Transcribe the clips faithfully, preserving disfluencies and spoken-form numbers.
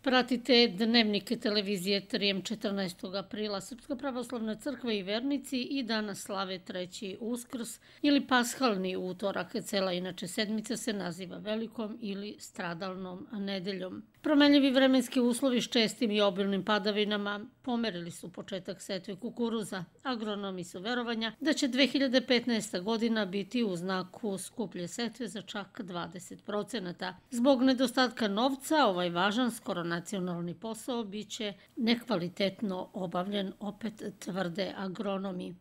Pratite Dnevnik televizije Trijem četrnaestog aprila. Srpska pravoslavna crkva i vernici i danas slave treći Uskrs ili pashalni utorak. Cela inače sedmica se naziva Velikom ili Stradalnom nedeljom. Promenljivi vremenski uslovi s čestim i obilnim padavinama pomerili su početak setve kukuruza. Agronomi su verovanja da će dve hiljade petnaesta. godina biti u znaku skuplje setve za čak dvadeset procenata. Zbog nedostatka novca, ovaj važan skoro nacionalni posao biće nekvalitetno obavljen, opet tvrde agronomi.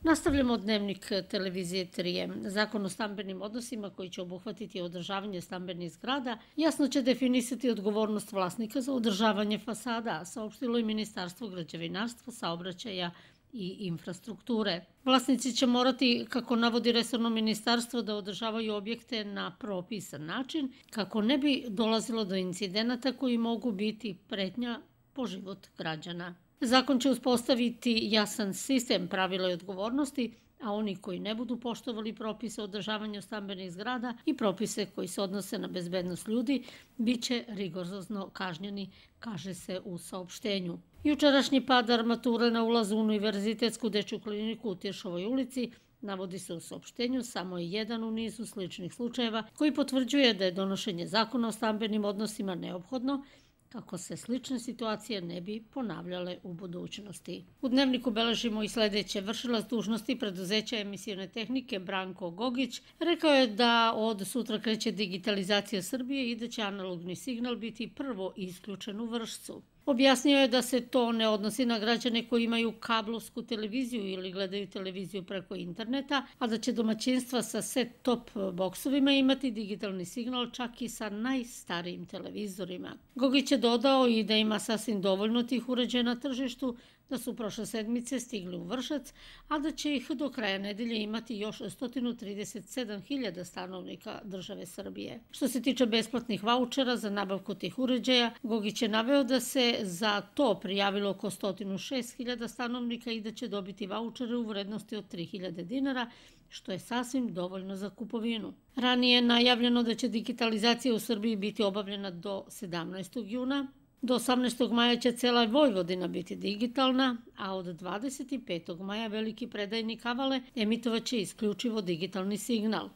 Nastavljamo Dnevnik televizije Trijem. Zakon o stambenim odnosima koji će obuhvatiti održavanje stambenih zgrada jasno će definisati odgovornost vlasnika za održavanje fasada, saopštilo i Ministarstvo građevinarstva, saobraćaja i infrastrukture. Vlasnici će morati, kako navodi resorno ministarstvo, da održavaju objekte na propisan način, kako ne bi dolazilo do incidenata koji mogu biti pretnja po život građana. Zakon će uspostaviti jasan sistem pravila i odgovornosti, a oni koji ne budu poštovali propise o održavanju stambenih zgrada i propise koji se odnose na bezbednost ljudi, bit će rigorozno kažnjeni, kaže se u saopštenju. Jučerašnji pad armature na ulazu u Univerzitetsku dečju kliniku u Tiršovoj ulici, navodi se u saopštenju, samo je jedan u nizu sličnih slučajeva koji potvrđuje da je donošenje zakona o stambenim odnosima neophodno kako se slične situacije ne bi ponavljale u budućnosti. U Dnevniku beležimo i sledeće. Vršilac dužnosti preduzeća emisione tehnike Branko Gogić rekao je da od sutra kreće digitalizacija Srbije i da će analogni signal biti prvo isključen u Vršcu. Objasnio je da se to ne odnosi na građane koji imaju kablovsku televiziju ili gledaju televiziju preko interneta, a da će domaćinstva sa set-top boksovima imati digitalni signal čak i sa najstarijim televizorima. Gogić je dodao i da ima sasvim dovoljno tih uređaja na tržištu, da su prošle sedmice stigli u Vršac, a da će ih do kraja nedelje imati još sto trideset sedam hiljada stanovnika države Srbije. Što se tiče besplatnih vaučera za nabavku tih uređaja, Gogić je naveo da se za to prijavilo oko sto šest hiljada stanovnika i da će dobiti vaučere u vrednosti od tri hiljade dinara, što je sasvim dovoljno za kupovinu. Ranije je najavljeno da će digitalizacija u Srbiji biti obavljena do sedamnaestog juna, do osamnaestog maja će cela Vojvodina biti digitalna, a od dvadeset petog maja veliki predajnik Avale emitovaće isključivo digitalni signal.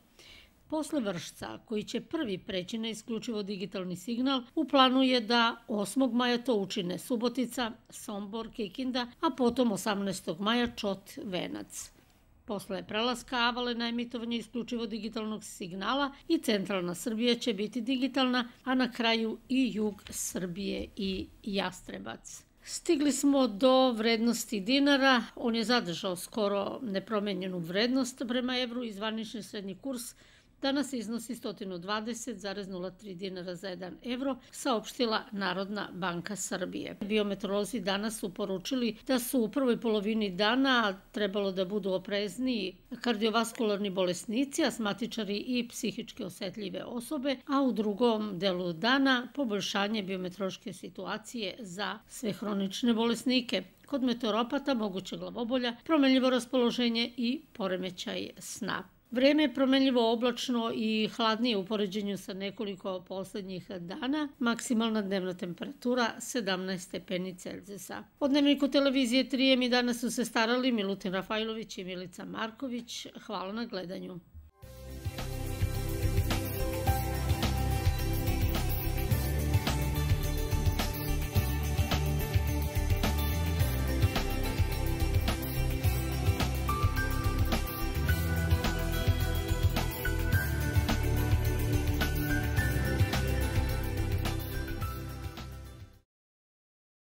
Posle Vršca, koji će prvi preći na isključivo digitalni signal, u planu je da osmog maja to učine Subotica, Sombor, Kikinda, a potom osamnaestog maja Čot, Venac. Posle prelaska Avale na emitovanje isključivo digitalnog signala i centralna Srbija će biti digitalna, a na kraju i jug Srbije i Jastrebac. Stigli smo do vrednosti dinara. On je zadržao skoro nepromenjenu vrednost prema evru i zvanični srednji kurs danas iznosi sto dvadeset zarez nula tri dinara za jedan evro, saopštila Narodna banka Srbije. Biometeorolozi danas su poručili da su u prvoj polovini dana trebalo da budu oprezniji kardiovaskularni bolesnici, asmatičari i psihički osetljive osobe, a u drugom delu dana poboljšanje biometeorološke situacije za sve hronične bolesnike. Kod meteoropata moguće glavobolja, promenljivo raspoloženje i poremećaj sna. Vreme je promenljivo oblačno i hladnije u poređenju sa nekoliko poslednjih dana. Maksimalna dnevna temperatura sedamnaest stepeni Celzijusa. O Dnevniku televizije Trijem i danas su se starali Milutin Rafajlović i Milica Marković. Hvala na gledanju.